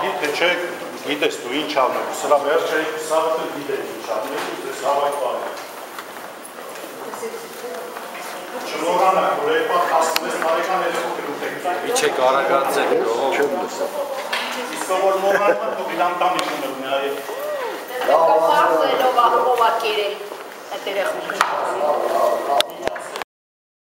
ահի թե չէ գիտես դու ինչ անելու, սրա վերջը սաղը գիտես ինչ անելու, ձեզ հավայք բարի։ Չնորանակ, որ երկպատ 16 տարեկան երեխոք է դուք եք։ Իչեք արագած եք գողով։ Իսկ որ մորանան թող իր անտանիքն ունի այ։ Կապարզելով ահովա կերել այդ երեխոքը։